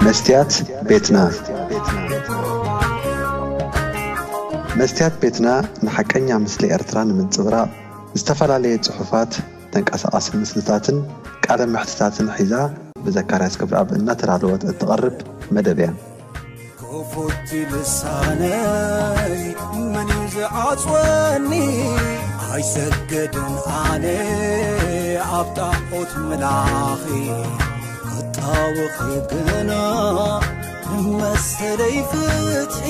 መስትያት ቤትና። መስትያት ቤትና ንሓቀኛ ምስሊ ኤርትራ ንምንጽብራቕ ዝተፈላለየ ጽሑፋት፣ ተንቀሳቓሲ ምስልታትን ቃለ መሕትታትን ሒዛ ብዘካርያስ ክብረኣብ እናተዳለወት እትቐርብ መደብ እያ። ክፉት ልሳነይ መን እዩ ዝዓጽወኒ? ኣይሰግድን ኣነ ኣብ ጣዖት ምላኺ፣ ክጣወኺ ግና ንመሰለይ ፍትሒ።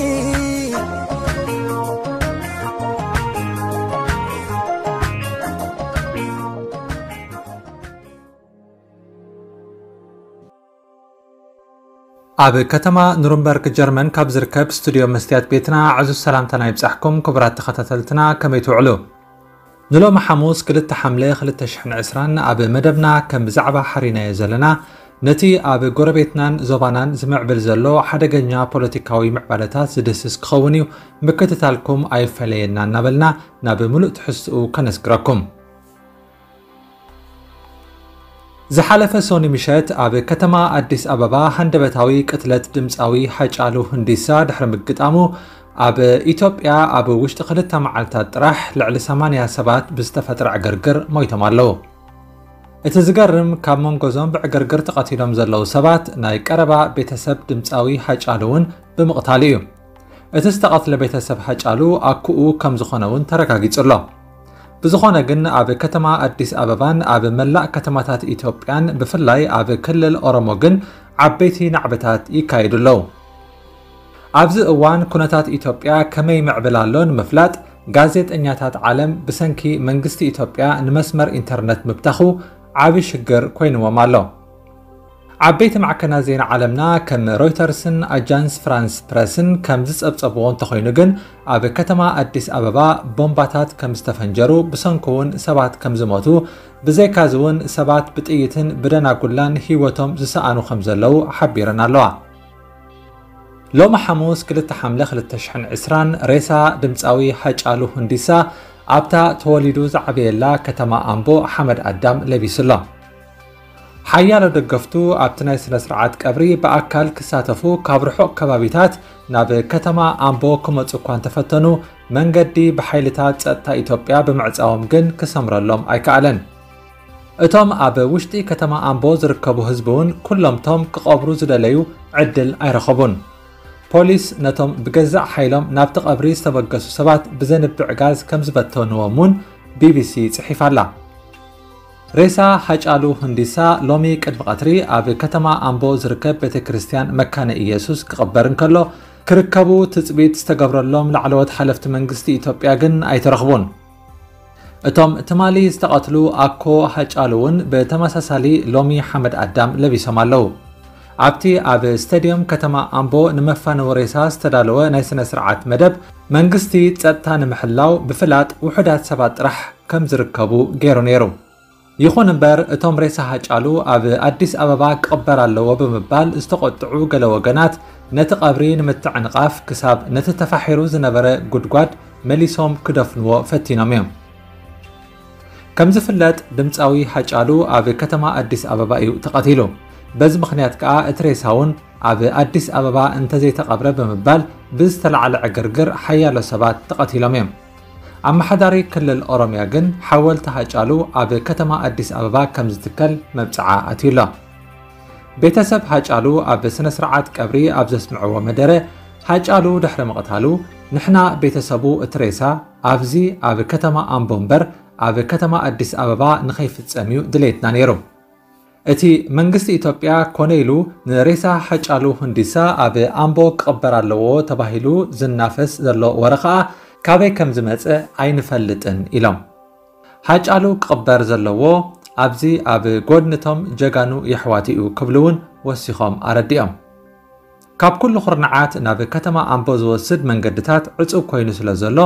ኣብ ከተማ ኑርንበርግ ጀርመን ካብ ዝርከብ ስቱድዮ መስትያት ቤትና ዕዙዝ ሰላምታና ይብጻሕኩም ክቡራት ተኸታተልትና፣ ከመይ ትውዕሉ? ንሎሚ ሓሙስ ክልተ ሓምለ ክልተ ሽሕን ዕስራን ኣብ መደብና ከም ዛዕባ ሓሪናዮ ዘለና፣ ነቲ ኣብ ጎረቤትናን ዞባናን ዝምዕብል ዘሎ ሓደገኛ ፖለቲካዊ ምዕባለታት ዝድህስስ ክኸውን እዩ። ምክትታልኩም ኣይፈለየና እናበልና ናብ ምሉእ ትሕዝትኡ ከነስግረኩም። ዝሓለፈ ሶኒ ምሸት ኣብ ከተማ ኣዲስ ኣበባ ሃንደበታዊ ቅትለት ድምፃዊ ሃጫሉ ሁንዲሳ ድሕሪ ምግጣሙ፣ ኣብ ኢትዮጵያ ኣብ ውሽጢ ክልተ መዓልታት ጥራሕ ልዕሊ ሰማንያ ሰባት ብዝተፈጥረ ዕግርግር ሞይቶም ኣለዉ። እቲ ዝገርም፣ ካብ መንጎ እዞም ብዕግርግር ተቐቲሎም ዘለዉ ሰባት ናይ ቀረባ ቤተሰብ ድምፃዊ ሃጫሉ እውን ብምቕታሉ እዩ። እቲ ዝተቐትለ ቤተሰብ ሃጫሉ ኣኩኡ ከም ዝኾነ እውን ተረጋጊጹ ኣሎ። ብዝኾነ ግን፣ ኣብ ከተማ ኣዲስ ኣበባን ኣብ መላእ ከተማታት ኢትዮጵያን ብፍላይ ኣብ ክልል ኦሮሞ ግን ዓበይቲ ናዕብታት ይካየዱ ኣለዉ። ኣብዚ እዋን ኩነታት ኢትዮጵያ ከመይ ይምዕብል ኣሎ ንምፍላጥ፣ ጋዜጠኛታት ዓለም ብሰንኪ መንግስቲ ኢትዮጵያ ንመስመር ኢንተርነት ምብታኹ ዓቢ ሽግር ኮይንዎም ኣሎ። ዓበይቲ ማዕከናት ዜና ዓለምና ከም ሮይተርስን ኣጃንስ ፍራንስ ፕረስን ከም ዝጸብጸብዎ እንተኾይኑ ግን፣ ኣብ ከተማ ኣዲስ ኣበባ ቦምባታት ከም ዝተፈንጀሩ፣ ብሰንኩ እውን ሰባት ከም ዝሞቱ፣ ብዘይካዚ እውን ሰባት ብጥይትን ብደናጉላን ህይወቶም ዝሰኣኑ ከም ዘለዉ ሓቢረን ኣለዋ። ሎሚ ሓሙስ ክልተ ሓምለ ክልተ ሽሕን ዕስራን ሬሳ ድምፃዊ ሃጫሉ ሁንዲሳ ኣብታ ተወሊዱ ዝዓበየላ ከተማ ኣምቦ ሓመድ ኣዳም ለቢሱ ኣሎ። ሓያሎ ደገፍቱ ኣብቲ ናይ ስነ ስርዓት ቀብሪ ብኣካል ክሳተፉ ካብ ርሑቕ ከባቢታት ናብ ከተማ ኣምቦ ክመጹ እኳ እንተፈተኑ፣ መንገዲ ብሓይልታት ጸጥታ ኢትዮጵያ ብምዕጻዎም ግን ክሰምረሎም ኣይከኣለን። እቶም ኣብ ውሽጢ ከተማ ኣምቦ ዝርከቡ ህዝቢ እውን ኩሎምቶም ክቐብሩ ዝደለዩ ዕድል ኣይረኸቡን። ፖሊስ ነቶም ብገዛእ ሓይሎም ናብቲ ቀብሪ ዝተበገሱ ሰባት ብዘንብዕ ጋዝ ከም ዝበተንዎም እውን ቢቢሲ ጽሒፋ ኣላ። ሬሳ ሃጫሉ ሁንዲሳ ሎሚ ቅድሚ ቀትሪ ኣብ ከተማ ኣምቦ ዝርከብ ቤተ ክርስቲያን መካነ ኢየሱስ ክቕበር እንከሎ፣ ክርከቡ ትጽቢት ዝተገብረሎም ላዕለዎት ሓለፍቲ መንግስቲ ኢትዮጵያ ግን ኣይተረኽቡን። እቶም ትማሊ ዝተቐትሉ ኣኮ ሃጫሉ እውን ብተመሳሳሊ ሎሚ ሓመድ ኣዳም ለቢሶም ኣለዉ። ኣብቲ ኣብ ስታድዮም ከተማ ኣምቦ ንመፋነዊ ሬሳ ዝተዳለወ ናይ ስነ ስርዓት መደብ፣ መንግስቲ ጸጥታ ንምሕላው ብፍላጥ ውሑዳት ሰባት ጥራሕ ከም ዝርከቡ ገይሩ ነይሩ። ይኹን እምበር፣ እቶም ሬሳ ሃጫሉ ኣብ ኣዲስ ኣበባ ክቕበር ኣለዎ ብምባል ዝተቖጥዑ ገለ ወገናት፣ ነቲ ቀብሪ ንምትዕንቓፍ ክሳብ ነቲ ተፋሒሩ ዝነበረ ጉድጓድ መሊሶም ክደፍንዎ ፈቲኖም እዮም። ከም ዝፍለጥ፣ ድምፃዊ ሃጫሉ ኣብ ከተማ ኣዲስ ኣበባ እዩ ተቐቲሉ። በዚ ምኽንያት ከኣ እቲ ሬሳ እውን ኣብ ኣዲስ ኣበባ እንተዘይተቐብረ ብምባል ብዝተላዕለ ዕግርግር ሓያሎ ሰባት ተቐቲሎም እዮም። ኣመሓዳሪ ክልል ኦሮምያ ግን ሓወልቲ ሃጫሉ ኣብ ከተማ ኣዲስ ኣበባ ከም ዝትከል መብጽዓ ኣትዩ ኣሎ። ቤተሰብ ሃጫሉ ኣብ ስነ ስርዓት ቀብሪ ኣብ ዘስምዕዎ መደረ፣ ሃጫሉ ድሕሪ ምቕታሉ፣ ንሕና ቤተሰቡ እቲ ሬሳ ኣብዚ ኣብ ከተማ ኣምቦ እምበር ኣብ ከተማ ኣዲስ ኣበባ ንኸይፍጸም እዩ ድሌትና ነይሩ። እቲ መንግስቲ ኢትዮጵያ ኮነ ኢሉ ንሬሳ ሃጫሉ ሁንዲሳ ኣብ ኣምቦ ክቕበር ኣለዎ ተባሂሉ ዝናፈስ ዘሎ ወረ ኸኣ ካበይ ከም ዝመጸ ኣይንፈልጥን ኢሎም። ሃጫሉ ክቕበር ዘለዎ ኣብዚ ኣብ ጎድንቶም ጀጋኑ የሕዋቱ እዩ ክብሉ እውን ወሲኾም ኣረዲኦም። ካብ ኩሉ ኩርናዓት ናብ ከተማ ኣምቦ ዝወስድ መንገድታት ዕጹብ ኮይኑ ስለ ዘሎ፣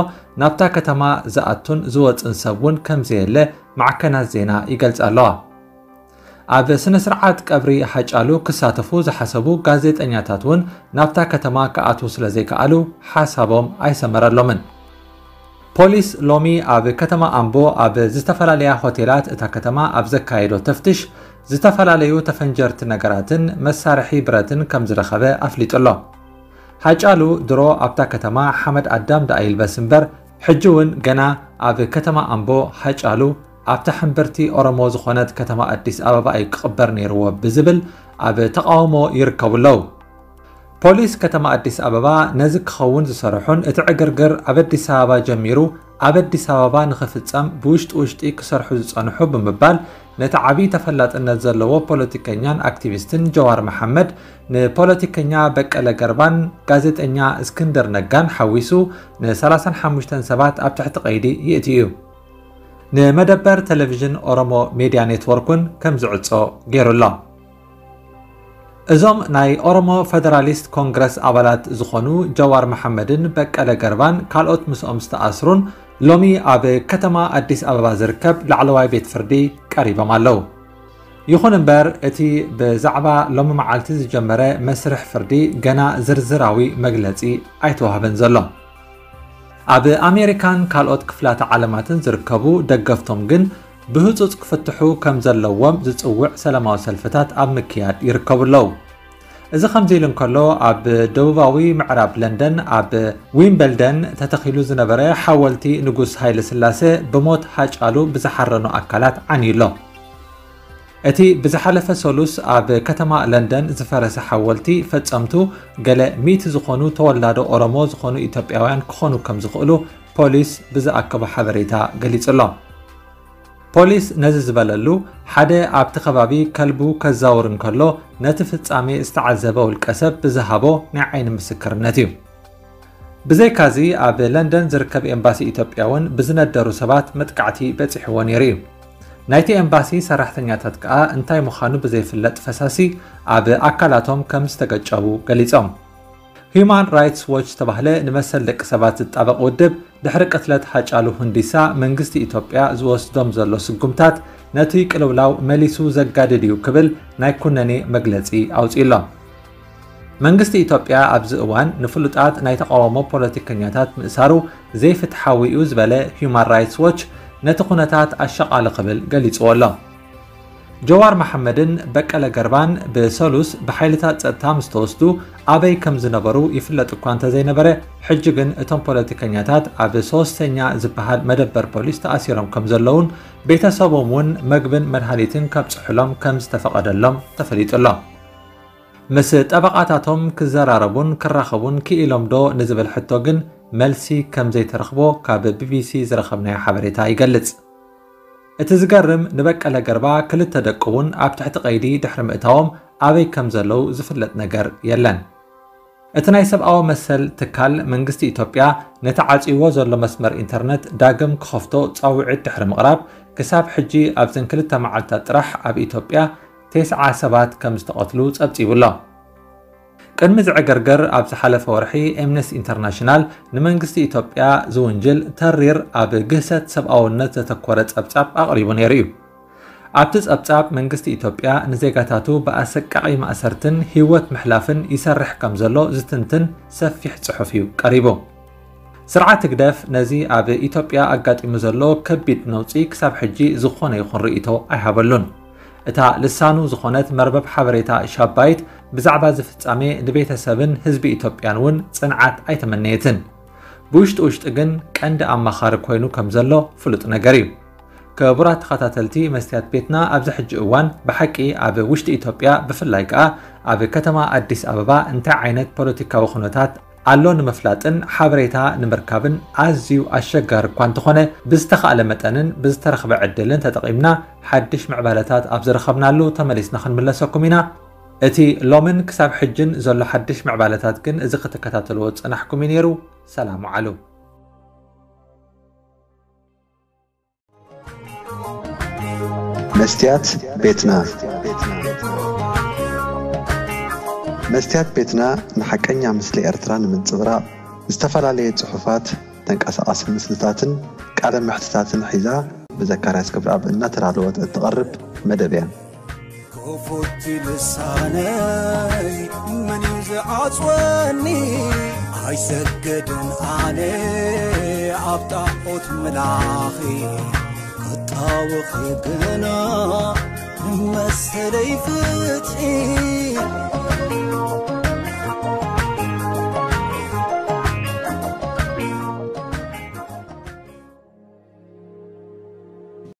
ናብታ ከተማ ዝኣቱን ዝወጽን ሰብ እውን ከም ዘየለ ማዕከናት ዜና ይገልጻ ኣለዋ። ኣብ ስነ ስርዓት ቀብሪ ሃጫሉ ክሳተፉ ዝሓሰቡ ጋዜጠኛታት እውን ናብታ ከተማ ክኣትዉ ስለ ዘይከኣሉ፣ ሓሳቦም ኣይሰመረሎምን። ፖሊስ ሎሚ ኣብ ከተማ ኣምቦ ኣብ ዝተፈላለያ ሆቴላት እታ ከተማ ኣብ ዘካየዶ ተፍትሽ፣ ዝተፈላለዩ ተፈንጀርቲ ነገራትን መሳርሒ ብረትን ከም ዝረኸበ ኣፍሊጡ ኣሎ። ሃጫሉ ድሮ ኣብታ ከተማ ሓመድ ኣዳም ደኣ ይልበስ እምበር፣ ሕጂ እውን ገና ኣብ ከተማ ኣምቦ ሃጫሉ ኣብታ ሕምብርቲ ኦሮሞ ዝኾነት ከተማ ኣዲስ ኣበባ እዩ ክቕበር ነይርዎ ብዝብል ኣብ ተቓውሞ ይርከቡ ኣለዉ። ፖሊስ ከተማ ኣዲስ ኣበባ ነዚ ክኸውን ዝሰርሑን እቲ ዕግርግር ኣብ ኣዲስ ኣበባ ጀሚሩ ኣብ ኣዲስ ኣበባ ንኽፍጸም ብውሽጢ ውሽጢ ክሰርሑ ዝጸንሑ ብምባል ነቲ ዓብዪ ተፈላጥነት ዘለዎ ፖለቲከኛን ኣክቲቪስትን ጀዋር መሓመድ ንፖለቲከኛ በቀለ ገርባን ጋዜጠኛ እስክንድር ነጋን ሓዊሱ ን35 ሰባት ኣብ ትሕቲ ቀይዲ ይእትዩ እዩ። ንመደበር ቴሌቪዥን ኦሮሞ ሜድያ ኔትወርክ እውን ከም ዝዕጾ ገይሩ ኣሎ። እዞም ናይ ኦሮሞ ፌደራሊስት ኮንግረስ ኣባላት ዝኾኑ ጀዋር መሓመድን በቀለ ገርባን ካልኦት ምስኦም ዝተኣስሩን ሎሚ ኣብ ከተማ ኣዲስ ኣበባ ዝርከብ ላዕለዋይ ቤት ፍርዲ ቀሪቦም ኣለዉ። ይኹን እምበር እቲ ብዛዕባ ሎሚ መዓልቲ ዝጀመረ መስርሕ ፍርዲ ገና ዝርዝራዊ መግለጺ ኣይተዋህበን ዘሎ። ኣብ ኣሜሪካን ካልኦት ክፍላተ ዓለማትን ዝርከቡ ደገፍቶም ግን ብህጹጽ ክፍትሑ ከም ዘለዎም ዝጽውዕ ሰላማዊ ሰልፍታት ኣብ ምክያድ ይርከቡ ኣለዉ። እዚ ከምዚ ኢሉ እንከሎ ኣብ ደቡባዊ ምዕራብ ለንደን ኣብ ዊምበልደን ተተኺሉ ዝነበረ ሓወልቲ ንጉስ ሃይለ ስላሴ ብሞት ሃጫሉ ብዝሓረኑ ኣካላት ዓንዩ ኣሎ። እቲ ብዝሓለፈ ሰሉስ ኣብ ከተማ ለንደን ዝፈረሰ ሓወልቲ ፈጸምቱ ገለ ሚእቲ ዝኾኑ ተወላዶ ኦሮሞ ዝኾኑ ኢትዮጵያውያን ክኾኑ ከም ዝኽእሉ ፖሊስ ብዝኣከቦ ሓበሬታ ገሊጹ ኣሎ። ፖሊስ ነዚ ዝበለሉ ሓደ ኣብቲ ከባቢ ከልቡ ከዛውር እንከሎ ነቲ ፍጻሜ ዝተዓዘበ ውልቀ ሰብ ብዝሃቦ ናይ ዓይኒ ምስክርነት እዩ። ብዘይካዚ ኣብ ለንደን ዝርከብ ኤምባሲ ኢትዮጵያ እውን ብዝነደሩ ሰባት መጥቃዕቲ በጺሕዎ ነይሩ እዩ። ናይቲ ኤምባሲ ሰራሕተኛታት ከኣ እንታይ ምዃኑ ብዘይፍለጥ ፈሳሲ ኣብ ኣካላቶም ከም ዝተገጨቡ ገሊጾም። ሂዩማን ራይትስ ዎች ዝተባህለ ንመሰል ደቂ ሰባት ዝጣበቕ ውድብ ድሕሪ ቅትለት ሃጫሉ ሁንዲሳ መንግስቲ ኢትዮጵያ ዝወስዶም ዘሎ ስጉምታት ነቲ ቅልውላው መሊሱ ዘጋድድ እዩ ክብል ናይ ኩነኔ መግለጺ ኣውጺኡ ኣሎ። መንግስቲ ኢትዮጵያ ኣብዚ እዋን ንፍሉጣት ናይ ተቓውሞ ፖለቲከኛታት ምእሳሩ ዘይፍትሓዊ እዩ ዝበለ ሂዩማን ራይትስ ዎች ነቲ ኩነታት ኣሻቓሊ ክብል ገሊጽዎ ኣሎ። ጀዋር መሓመድን በቀለ ገርባን ብሰሉስ ብሓይልታት ጸጥታ ምስ ተወስዱ ኣበይ ከም ዝነበሩ ይፍለጥ እኳ እንተዘይነበረ፣ ሕጂ ግን እቶም ፖለቲከኛታት ኣብ ሶስተኛ ዝበሃል መደበር ፖሊስ ተኣሲሮም ከም ዘለውን ቤተሰቦም እውን መግብን መድሃኒትን ከብጽሑሎም ከም ዝተፈቐደሎም ተፈሊጡ ኣሎ። ምስ ጠበቓታቶም ክዘራረቡን ክራኸቡን ክኢሎም ዶ ንዝብል ሕቶ ግን መልሲ ከም ዘይተረኽቦ ካብ ቢቢሲ ዝረኸብናዮ ሓበሬታ ይገልጽ። እቲ ዝገርም ንበቀለ ገርባ ክልተ ደቁ እውን ኣብ ትሕቲ ቀይዲ ድሕሪ ምእታዎም ኣበይ ከም ዘለዉ ዝፍለጥ ነገር የለን። እቲ ናይ ሰብኣዊ መሰል ትካል መንግስቲ ኢትዮጵያ ነቲ ዓጽይዎ ዘሎ መስመር ኢንተርነት ዳግም ክኸፍቶ ጻውዒት ድሕሪ ምቕራብ ክሳብ ሕጂ ኣብዘን ክልተ መዓልታት ጥራሕ ኣብ ኢትዮጵያ ተስዓ ሰባት ከም ዝተቐትሉ ጸብጺቡ ኣሎ። ቅድሚ ዝዕገርገር ኣብ ዝሓለፈ ወርሒ ኤምነስቲ ኢንተርናሽናል ንመንግስቲ ኢትዮጵያ ዝውንጅል ተሪር ኣብ ግህሰት ሰብኣውነት ዘተኮረ ጸብጻብ ኣቕሪቡ ነይሩ እዩ። ኣብቲ ጸብጻብ መንግስቲ ኢትዮጵያ ንዜጋታቱ ብኣሰቃቒ ማእሰርትን ህይወት ምሕላፍን ይሰርሕ ከም ዘሎ ዝትንትን ሰፊሕ ጽሑፍ እዩ ቀሪቡ። ስርዓት ህግደፍ ነዚ ኣብ ኢትዮጵያ ኣጋጢሙ ዘሎ ከቢድ ነውጺ ክሳብ ሕጂ ዝኾነ ይኹን ርእይቶ ኣይሃበሉን። እታ ልሳኑ ዝኾነት መርበብ ሓበሬታ ሻባይት ብዛዕባ እዚ ፍጻሜ ንቤተሰብን ህዝቢ ኢትዮጵያን እውን ጽንዓት ኣይተመነየትን። ብውሽጢ ውሽጢ ግን ቀንዲ ኣማኻሪ ኮይኑ ከም ዘሎ ፍሉጥ ነገር እዩ። ክቡራት ተኸታተልቲ መስትያት ቤትና፣ ኣብዚ ሕጂ እዋን ብሓቂ ኣብ ውሽጢ ኢትዮጵያ ብፍላይ ከኣ ኣብ ከተማ ኣዲስ ኣበባ እንታይ ዓይነት ፖለቲካዊ ኩነታት ኣሎ ንምፍላጥን ሓበሬታ ንምርካብን ኣዝዩ ኣሸጋሪ እኳ እንተኾነ፣ ብዝተኻእለ መጠንን ብዝተረኽበ ዕድልን ተጠቒምና ሓድሽ ምዕባለታት ኣብ ዝረኸብናሉ ተመሊስና ክንምለሰኩም ኢና። እቲ ሎምን ክሳብ ሕጅን ዘሎ ሓድሽ ምዕባለታት ግን እዚ ክትከታተልዎ ዝጸናሕኩም እዩ ነይሩ። ሰላም ወዓሉ። መስትያት ቤትና። መስትያት ቤትና ንሓቀኛ ምስሊ ኤርትራ ንምንጽብራቕ ዝተፈላለየ ጽሑፋት፣ ተንቀሳቓሲ ምስልታትን ቃለ መሕትታትን ሒዛ ብዘካርያስ ክብረኣብ እናተዳለወት እትቐርብ መደብ እያ። ክፉት ልሳነይ መን እዩ ዝዓጽወኒ? ኣይሰግድን ኣነ ኣብ ጣዖት ምላኺ፣ ክጣወኺ ግና መሰለይ ፍትሒ